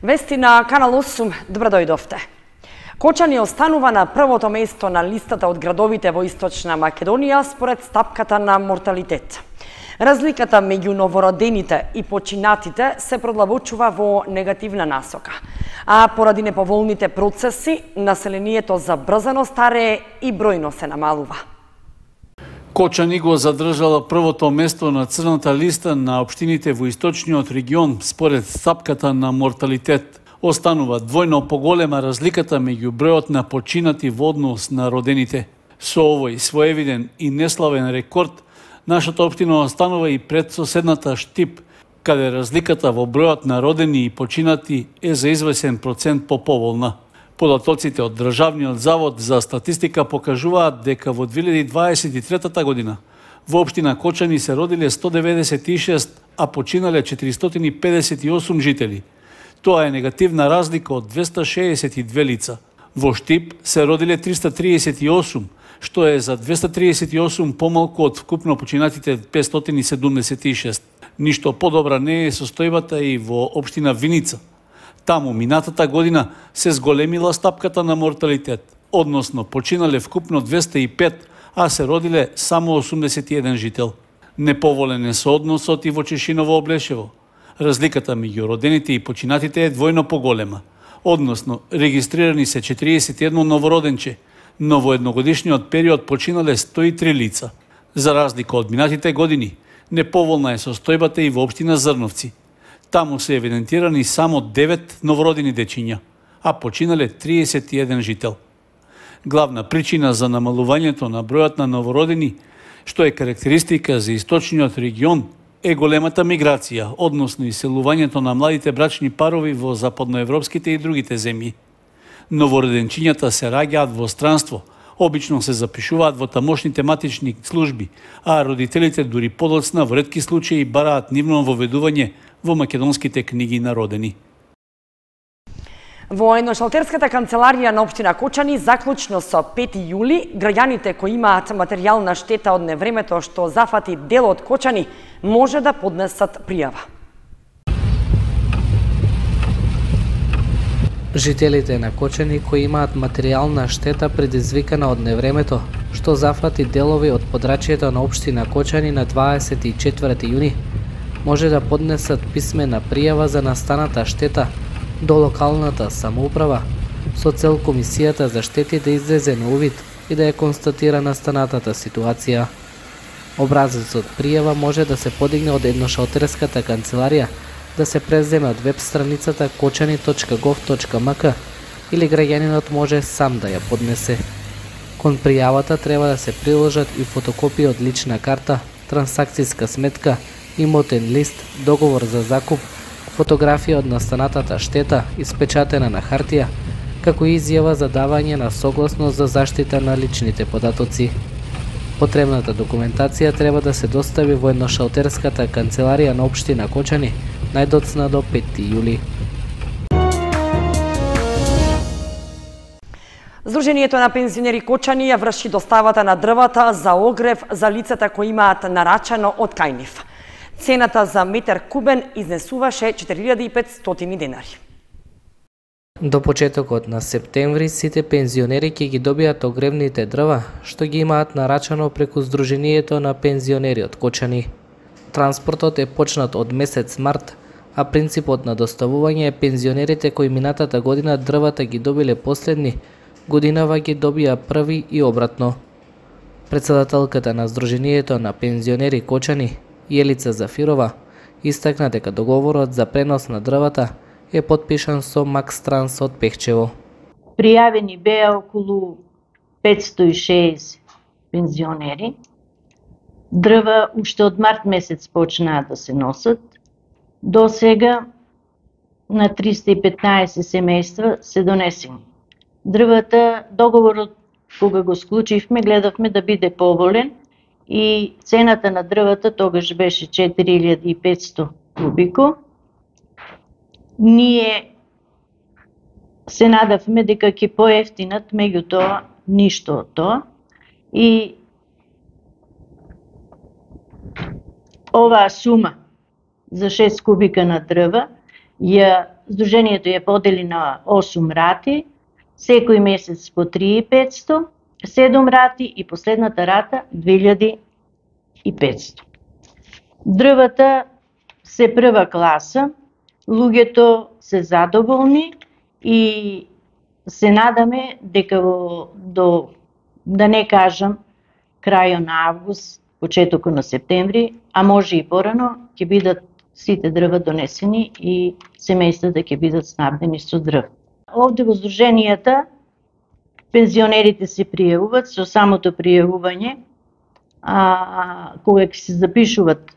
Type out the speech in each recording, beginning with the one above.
Вести на Канал 8, добро дојдовте. Кочани останува на првото место на листата од градовите во Источна Македонија според стапката на морталитет. Разликата меѓу новородените и починатите се продлабочува во негативна насока, а поради неповолните процеси, населението забрзано старее и бројно се намалува. Кочани го задржала првото место на црната листа на општините во источниот регион според стапката на морталитет. Останува двојно поголема разликата меѓу бројот на починати во однос на родените. Со овој своевиден и неславен рекорд, нашата општина останува и пред соседната Штип, каде разликата во бројот на родени и починати е за извесен процент поповолна. Податоците од Државниот завод за статистика покажуваат дека во 2023 година во општина Кочани се родиле 196, а починале 458 жители. Тоа е негативна разлика од 262 лица. Во Штип се родиле 338, што е за 238 помалку од вкупно починатите 576. Ништо подобра не е состојбата и во општина Виница. Таму минатата година се зголемила стапката на морталитет, односно починале вкупно 205, а се родиле само 81 жител. Неповолен е соодносот и во Чешиново Облешево. Разликата меѓу родените и починатите е двојно поголема, односно регистрирани се 41 новороденче, но во едногодишниот период починале 103 лица. За разлика од минатите години, неповолна е состојбата и во општина Зрновци. Таму се евидентирани само 9 новородени дечиња, а починале 31 жител. Главна причина за намалувањето на бројот на новородени, што е карактеристика за источниот регион, е големата миграција, односно иселувањето на младите брачни парови во западноевропските и другите земји. Новороденчињата се раѓаат во странство, обично се запишуваат во тамошните матични служби, а родителите дури подоцна во ретки случаи бараат нивно воведување во македонските книги на родени. Во едношалтерската канцеларија на општина Кочани, заклучно со 5 јули, граѓаните кои имаат материјална штета од невремето што зафати дел од Кочани, може да поднесат пријава. Жителите на Кочани кои имаат материјална штета предизвикана од невремето што зафати делови од подрачјето на општина Кочани на 24 јуни, може да поднесат писмена пријава за настаната штета до локалната самоуправа со цел комисијата за штети да излезе на увид и да ја констатира настанатата ситуација. Образецот пријава може да се подигне од едношалтерската канцеларија, да се преземе од веб страницата kočani.gov.mk или граѓанинот може сам да ја поднесе. Кон пријавата треба да се приложат и фотокопија од лична карта, трансакцијска сметка, имотен лист, договор за закуп, фотографија од настанатата штета, испечатена на хартија, како и изјава за давање на согласност за заштита на личните податоци. Потребната документација треба да се достави во едношалтерската канцеларија на општина Кочани најдоцна до 5 јули. Сдруженијето на пензионери Кочани ја врши доставата на дрвата за огрев за лицата кои имаат нарачано од кај нив. Цената за метар кубен изнесуваше 4500 денари. До почетокот на септември сите пензионери ќе ги добијат огревните дрва што ги имаат нарачано преку Сдруженијето на пензионери од Кочани. Транспортот е почнат од месец март, а принципот на доставување е пензионерите кои минатата година дрвата ги добиле последни, годинава ги добија први и обратно. Председателката на Сдруженијето на пензионери Кочани, Јелица Зафирова, истакна дека договорот за пренос на дрвата е потпишан со Макс Транс од Пехчево. Пријавени беа околу 506 пензионери. Дрва уште од март месец почнаа да се носат. До сега на 315 семејства се донесени. Дрвата, договорот кога го склучивме, гледавме да биде поволен и цената на дрвата тогаш беше 4500 кубико. Ние се надавме дека ќе поевтинат, меѓутоа ништо од тоа. И оваа сума за 6 кубика на дрва ја Сдруженијето ја подели на 8 рати, секој месец по 3500, 7 рати и последната рата 2500. Дрвата се прва класа, луѓето се задоволни и се надаме дека до, да не кажам, крајот на август, почетокот на септември, а може и порано, ќе бидат сите дрва донесени и семејствата ќе бидат снабдени со дрв. Овде во здруженијата пензионерите се пријавуваат, со самото пријавување, кога ќе се запишуваат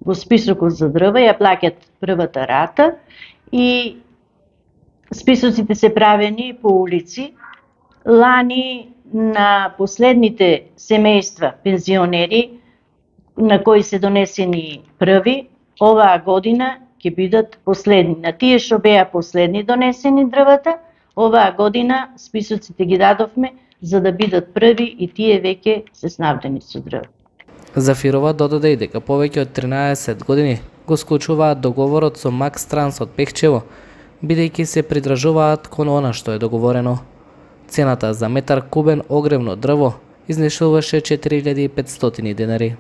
во списокот за дрва, ја плаќат првата рата и списоците се правени по улици. Лани на последните семејства пензионери на кои се донесени први, оваа година ќе бидат последни. На тие што беа последни донесени дрвата, оваа година списоците ги дадовме за да бидат први и тие веќе се снабдени со дрва. Зафирова додаде и дека повеќе од 13 години го склучуваат договорот со Макс Транс од Пехчево, бидејќи се придржуваат кон она што е договорено. Цената за метар кубен огревно дрво изнешуваше 4500 денари.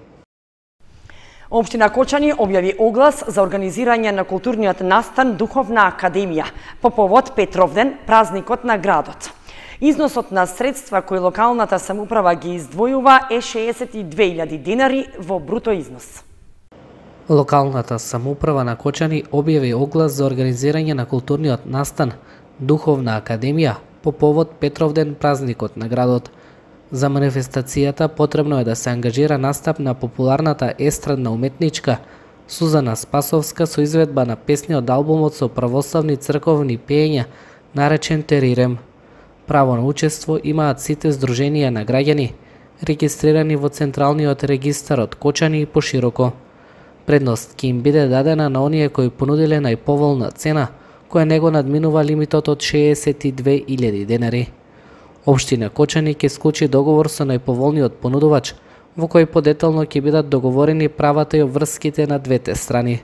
Општина Кочани објави оглас за организирање на културниот настан Духовна академија по повод Петровден, празникот на градот. Износот на средства кои локалната самоуправа ги издвојува е 62.000 денари во бруто износ. Локалната самоуправа на Кочани објави оглас за организирање на културниот настан Духовна академија по повод Петровден, празникот на градот. За манифестацијата потребно е да се ангажира настап на популарната естрадна уметничка Сузана Спасовска со изведба на песни од албумот со православни црковни пеења наречен Терирем. Право на учество имаат сите здруженија на граѓани, регистрирани во Централниот регистар од Кочани и пошироко. Предност ќе им биде дадена на оние кои понудиле најповолна цена, која не го надминува лимитот од 62.000 денари. Општина Кочани ќе склучи договор со најповолниот понудувач, во кој подетално ќе бидат договорени правата и обврските на двете страни.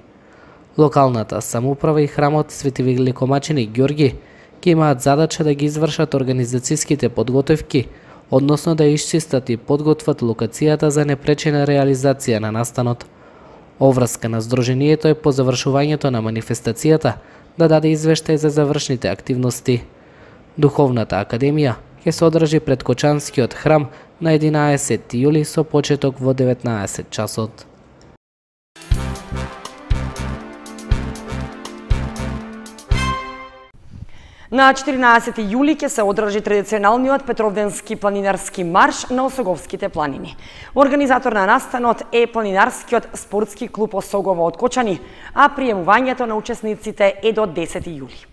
Локалната самоуправа и храмот Свети Великомаченик Ѓорги ќе имаат задача да ги извршат организацијските подготовки, односно да исчистат и подготват локацијата за непречена реализација на настанот. Оврска на здруженијето е по завршувањето на манифестацијата да даде извештај за завршните активности. Духовната академија ќе се одржи пред Кочанскиот храм на 11 јули со почеток во 19 часот. На 14 јули ќе се одржи традиционалниот Петровденски планинарски марш на Осоговските планини. Организатор на настанот е планинарскиот спортски клуб Осогово од Кочани, а приемувањето на учесниците е до 10 јули.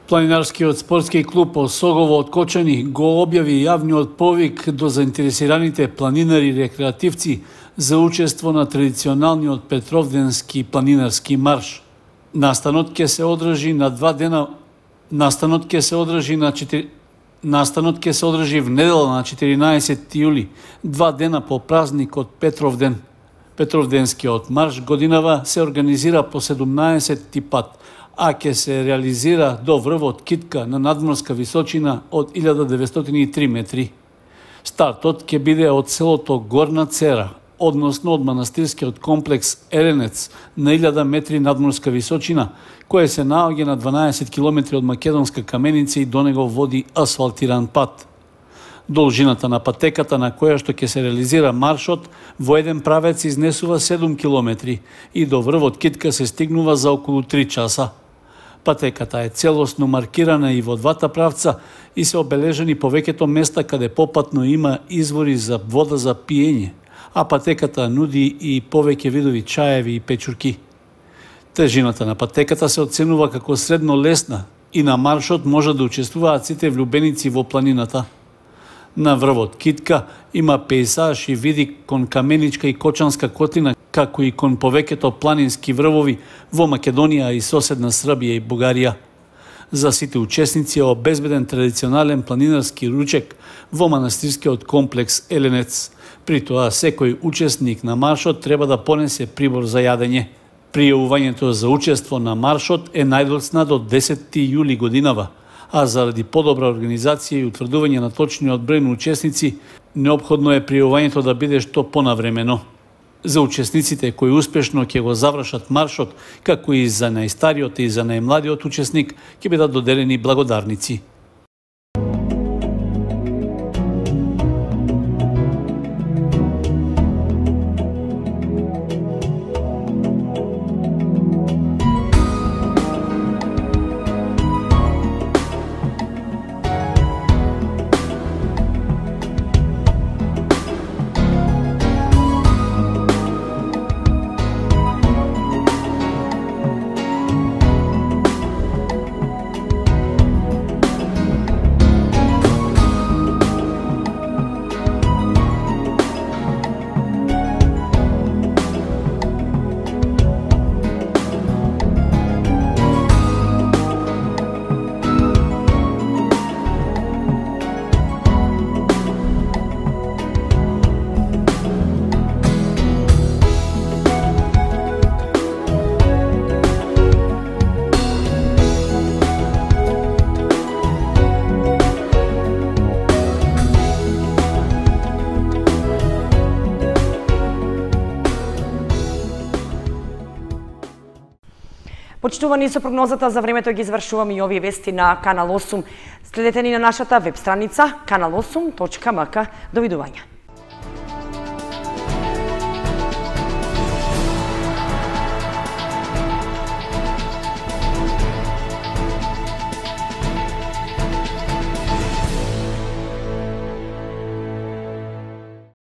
Планинарскиот спортски клуб Осогово од Кочани го објави јавниот повик до заинтересираните планинари и рекреативци за учество на традиционалниот Петровденски планинарски марш. Настанот ќе се одржи на 2 дена. Настанот ќе се одржи в недела на 14 јули, 2 дена по празникот Петровден. Петровденскиот марш годинава се организира по 17 пат, а ќе се реализира до врвот Китка на надморска височина од 1903 метри. Стартот ќе биде од селото Горна Цера, односно од манастирскиот комплекс Еленец на 1000 метри надморска височина, кој се наоѓа на 12 километри од Македонска Каменица и до него води асфалтиран пат. Должината на патеката на која што ќе се реализира маршот во еден правец изнесува 7 километри и до врвот Китка се стигнува за околу 3 часа. Патеката е целосно маркирана и во двата правца и се обележени повеќето места каде попатно има извори за вода за пиење, а патеката нуди и повеќе видови чаеви и печурки. Тежината на патеката се оценува како средно лесна и на маршот може да учествуваат сите влюбеници во планината. На врвот Китка има пејзаж и види кон Каменичка и Кочанска котлина, како и кон повеќето планински врвови во Македонија и соседна Србија и Бугарија. За сите учесници е обезбеден традиционален планинарски ручек во манастирскиот комплекс Еленец. При тоа секој учесник на маршот треба да понесе прибор за јадење. Пријавувањето за учество на маршот е најдоцна до 10 јули годинава, а заради подобра организација и утврдување на точниот број на учесници, неопходно е пријавувањето да биде што понавремено. За учесниците кои успешно ќе го завршат маршот, како и за најстариот и за најмладиот учесник, ќе бидат доделени благодарници. Почитувани, со прогнозата за времето ги извршуваме и овие вести на Канал 8. Следете ни на нашата веб страница kanal8.mk. Довидување.